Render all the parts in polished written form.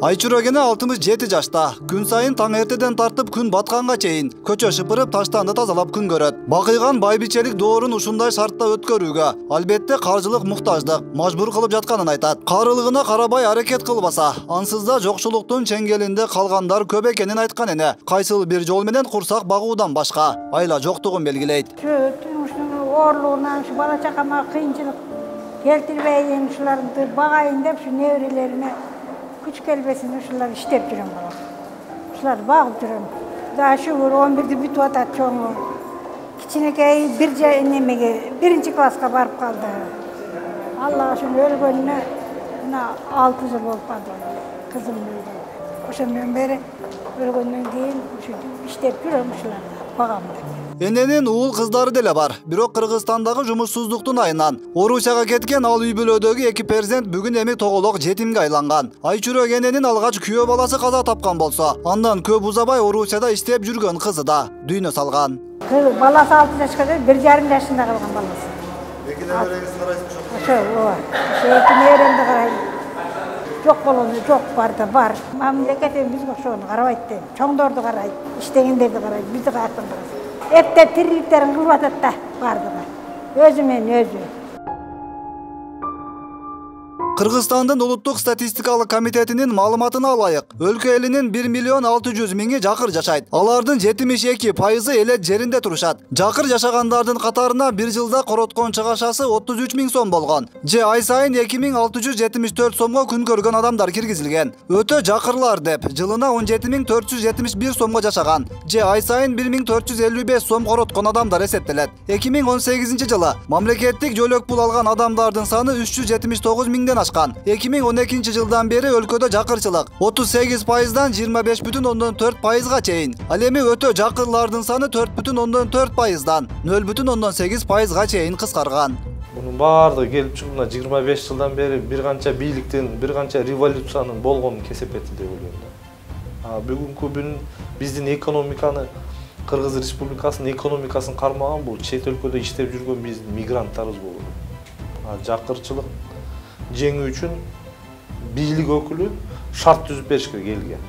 Айчуро Кене 67 жашта. Күн сайын таң эртеден тартып күн батканга чейин көчө шыпырып, таштанды тазалап күн көрөт. Бакыйган байбичелик доорун ушундай шартта өткөрүүгө албетте каржылык муктаждык мажбур кылып жатканын айтат. Карылыгына карабай аракет кылбаса, ансыз да жокчулуктун чеңгелинде калгандар көп экенин айткан эне. Кайсыл бир жол менен курсак багуудан башка айла жоктугун белгилейт. Орлугунан ушу бала чакама кыйынчылык келтирбейин, ушуларды багайын деп ушу неберелериме күч келбесин ушулар иштеп жүрөм бала. Ушуларды багып жүрөм. Да шүгүр 11-ди бүтүп атат чоңу. Кичинекей немеге 1-класска барып калды. Аллага шүгүр өлгөнүнө мына 6 жыл болуп калды. Кызым өлгөн. Ошондон бери өлгөндөн кийин ушу иштеп жүрөм ушуларды багам деп. Эненин уул кыздары деле бар. Бирок Кыргызстандагы жумушсуздуктун айынан Орусияга кеткен ал үй бүлөдөгү 2 перзент бүгүн эми тоголок жетимге айланган. Айчуро Кененин алгач күйөө баласы каза тапкан болсо, андан көп узабай Орусияда иштеп жүргөн кызы да дүйнө салган. Баласы 6 жашка дейт, 1,5 жашында калган баласы. Эки небереңизди карайсызбы? Ошо, эки неберемди карайм. Жок болгону жок, бар да бар. Мамлекет бизге ошону карабайт дейм. Чоңдорду карайт, иштегендерди карайт, бизди каяктан карайт. Эпте тириликтерин кылып атат да бардыгы. Өзү менен өзү. Кыргызстандын улуттук статистикалык комитетинин маалыматына алайык, өлкө элинин 1,6 миллион жакыр жашайт. Алардын 72% элет жеринде турушат. Жакыр жашагандардын катарына бир жылда короткон чыгашасы 33 000 сом болгон. Же ай сайын 2674 сомго күн көргөн адамдар киргизилген. Өтө жакырлар деп жылына 17471 сомго жашаган. Же ай сайын 1455 сом короткон адамдар эсептелет. 2018 жылы мамлекеттик жөлөк пул алган адамдардын саны 379 000ден 2012 жылдан бери өлкөдө жакырчылык 38%дан 25,4%га чейин. Ал эми өтө жакырлардын саны 4,4%дан 0,8%га чейин кыскарган. Мунун баардыгы келип чыгып, 25 жылдан бери бир канча бийликтин, бир канча революциянын болгонун кесепети деп ойлойм да. Бүгүнкү күн биздин экономиканы, Кыргыз Республикасынын экономикасын кармаган бул чет өлкөдө иштеп жүргөн биздин мигранттарыбыз болот. Жакырчылык жеңүү үчүн бийлик өкүлү шарт түзүп беришке келген.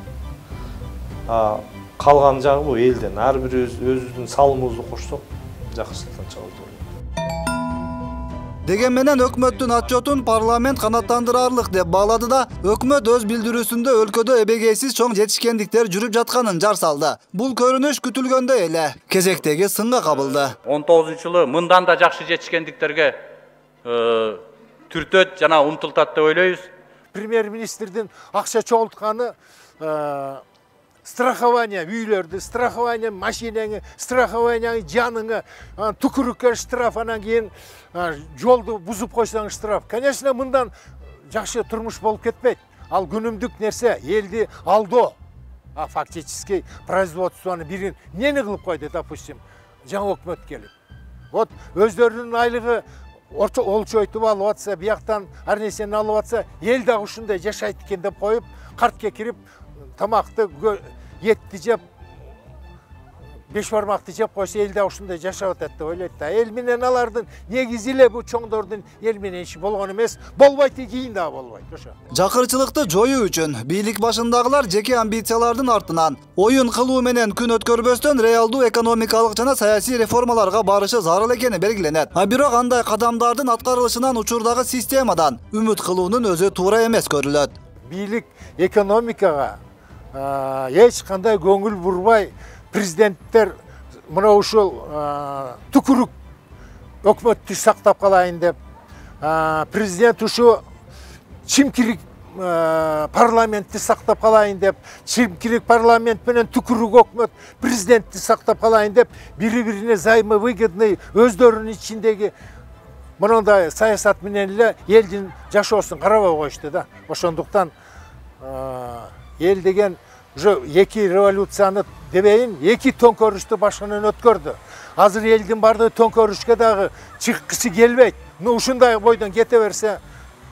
Калган жагы бул элден ар бир өзүбүздүн салымыбызды кошсок, жакшылыктан чыгабыз. Деген менен өкмөттүн отчетун парламент канаттандырарлык деп баалады да, өкмөт өз билдирүүсүндө өлкөдө эбегейсиз чоң жетишкендиктер жүрүп жатканын жар салды. Бул көрүнүш күтүлгөндөй эле кезектеги сынга кабылды. 19-жылы мындан да жакшы жетишкендиктерге түртөт жана умтултат деп ойлойбуз. Премьер-министрдин акча чогултканы страхование үйлөрдү, страхование машинаңы, страхование жаныңы, түкүрүккө штраф, анан кийин жолду бузуп койсоң штраф. Конечно, мындан жакшы турмуш болуп кетпейт. Ал күнүмдүк нерсе, элди алдоо. Фактически производствону бирин эмне кылып койду, допустим, жаңы өкмөт келип. Вот өздөрүнүн айлыгы олчойтуп алып атса, бияктан ар нерсени алып атса, эл дагы ушундай жашайт экен деп коюп, картке кирип, тамакты, этти жеп, 5 бармакты жеп койсо, эл дагы ушундай жашап атат деп ойлойт да. Эл менен алардын негизи эле бул чоңдордун эл менен иши болгон эмес, болбойт, кийин дагы болбойт. Ошо. Жакырчылыкты жоюу үчүн бийлик башындагылар жеке амбициялардын артынан оюн кылуу менен күн өткөрбөстөн реалдуу экономикалык жана саясий реформаларга барышы зарыл экени белгиленет. Бирок андай кадамдардын аткарылышынан учурдагы системадан үмүт кылуунун өзү туура эмес көрүлөт. Бийлик экономикага эч кандай көңүл бурбай, президенттер мына ушул түкүрүк өкмөттү сактап калайын деп, президент ушу чимкирик парламентти сактап калайын деп, чимкирик парламент менен түкүрүк өкмөт президентти сактап калайын деп, бири-бирине взаимовыгодный өздөрүнүн ичиндеги мындай саясат менен эле элдин жашоосун карабай коюшту да. Ошондуктан эл деген уже 2 революцияны дебейин, 2 төңкөрүштү башынан өткөрдү. Азыр элдин бардыгы төңкөрүшкө дагы чыккысы келбейт. Ушундай бойдон кете берсе,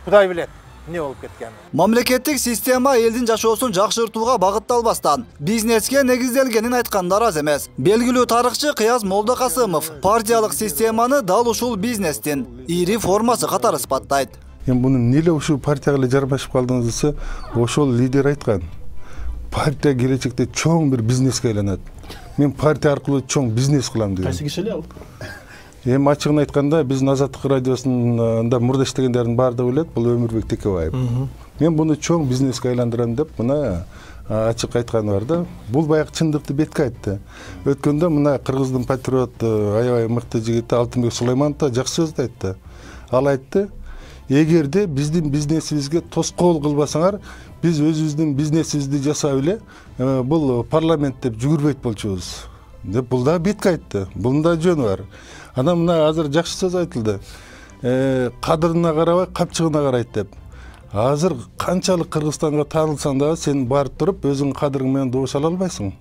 Кудай билет эмне болуп кеткенин. Мамлекеттик система элдин жашоосун жакшыртууга багытталбастан бизнеске негизделгенин айткандар аз эмес. Белгилүү тарыхчы Кыяз Молдокасымов партиялык системаны дал ушул бизнестин ири формасы катары сыпаттайт. Эми буну эмне ушул партияга эле жарбашып калдыңыз десе, ошол лидер айткан. Партия келечекте чоң бир бизнеске айланат. Мен партия аркылуу чоң бизнес кылам деген. Кайсы киши эле ал? Эми ачыгын айтканда, биздин Азаттык радиосунда мурда иштегендердин баардыгы билет, бул Өмүрбек Текебаев. Мен буну чоң бизнеске айландырам деп мына ачык айтканы бар да. Бул баягы чындыкты бетке айтты. Өткөндө мына Кыргыздын патриот аябай мыкты жигити Алтынбек Сулайманов да жакшы сөз айтты. Ал айтты: "Эгерде биздин бизнесибизге тоскоол кылбасаңар, биз өзүбүздүн бизнесибизди жасап эле бул парламент деп жүгүрбөйт болчубуз" деп бул да бетке айтты. Бунун да жөнү бар. Анан мына азыр жакшы сөз айтылды. Кадырына карабай, капчыгына карайт деп. Азыр канчалык Кыргызстанга таанылсаң дагы сен барып туруп өзүң кадырың менен добуш ала албайсың.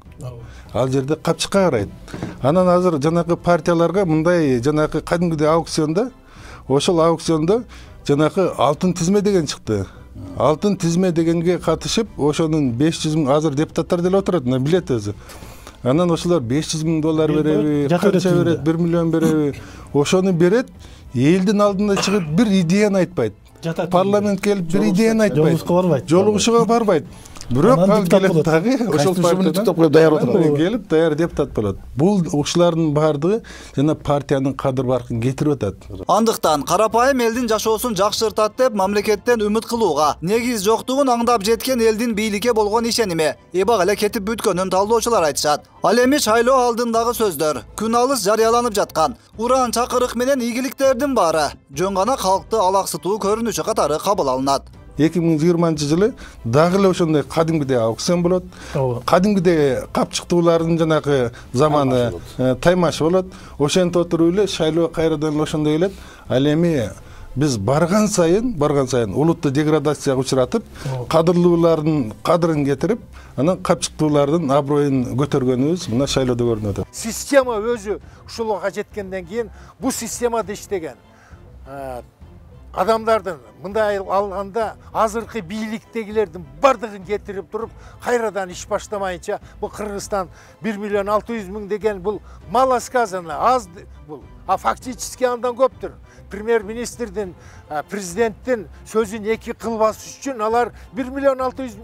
Ал жерде капчыкка карайт. Анан азыр жанагы партияларга мындай жанагы кадимгидей аукционда, ошол аукциондо жанагы алтын тизме деген чыкты. Алтын тизме дегенге катышып, ошонун 500 000 азыр депутаттар деле отурат, мына билет өзү. Анан ошолор 500 000 доллар береби, канча берет, 1 миллион береби, ошону берет, элдин алдына чыгып бир идеяны айтпайт. Парламент келип бир идеяны айтпайт. Жолугушууга барбайт. Бирок ал келип дагы ошол партиядан даяр отурат. Келип даяр депутат болот. Бул ушулардын баардыгы жана партиянын кадыр баркын кетирип атат. Андыктан карапайым элдин жашоосун жакшыртат деп мамлекеттен үмүт кылууга негиз жоктугун аңдап жеткен элдин бийликке болгон ишеними эбак эле кетип бүткөнүн талдоочулар айтышат. Ал эми шайлоо алдындагы сөздөр, күн алыс жарыяланып жаткан уран чакырык менен ийгиликтердин баары жөн гана калкты алаксытуу көрүнүшү катары кабыл алынат. 2020-жылы дагы эле ошондой кадимгидей аукцион болот. Кадимгидей капчыктуулардын жанагы заманы таймаш болот. Ошентип отуруп эле шайлоо кайрадан эле ошондой келет. Ал эми биз барган сайын улутту деградацияга учуратып, кадырлуулардын кадырын кетирип, анан капчыктуулардын аброюн көтөргөнүбүз мына шайлоодо көрүнүп атат. Система өзү ушулга жеткенден кийин бул системада иштеген адамдардын мындай алганда азыркы бийликтегилердин бардыгын кетирип туруп кайрадан иш баштамайынча бул Кыргызстан 1 миллион 600 000 деген бул мало сказано, аз бул, а фактически андан көптүр. Премьер-министрдин, президенттин сөзүн эки кылбас үчүн алар 1 миллион 600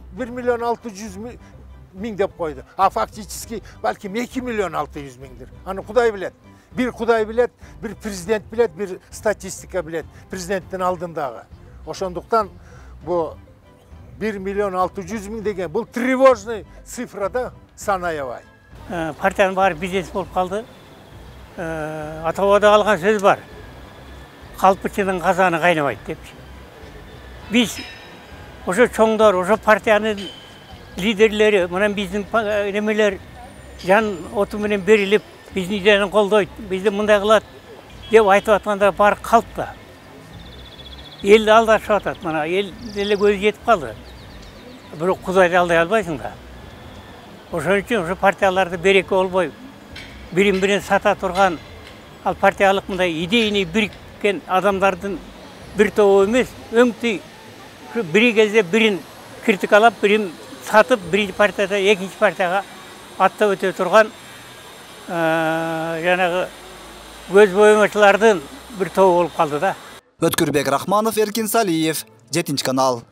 000 деп койду. А фактически балким 2 миллион 600 000'дир. Аны Кудай билет. Bir Kuday bilet, bir prezident bilet, bir statistika bilet. Prezidentin aldığındağı. Oşonduktan bu 1 milyon 600 000 degen, bu trivojный sifrada sanayavay. Partiyanın bari biznes bolup kaldı. Atavada algan söz var. Kalpıçının kazanı kaynamaydı demiş. Biz, oşo çoğunlar, oşo partiyanın liderleri, mınan bizim nemeler can otumenen berilip, bizni ideyani koldoyt, bizni mınday kılat dep aytып atkanda bari kalp da. El aldaşıp atat, mana el ele gözü yetip kaldı. Bирок Kuday'da alday albaysың da. Ошон үчүн ошо партияларды береке болбой, бирин-бирин сата турган, ал партиялык мындай идейный бириккен адамдардын бир тобу эмес, өңтүй бир кезде бирин критикалап, бирин сатып, биринчи партияда экинчи партияга аттап өтө турган жанагы көз боемочулардын бир тобу болуп калды да. Өткүрбек Рахманов, Эркин Салиев, 7 канал.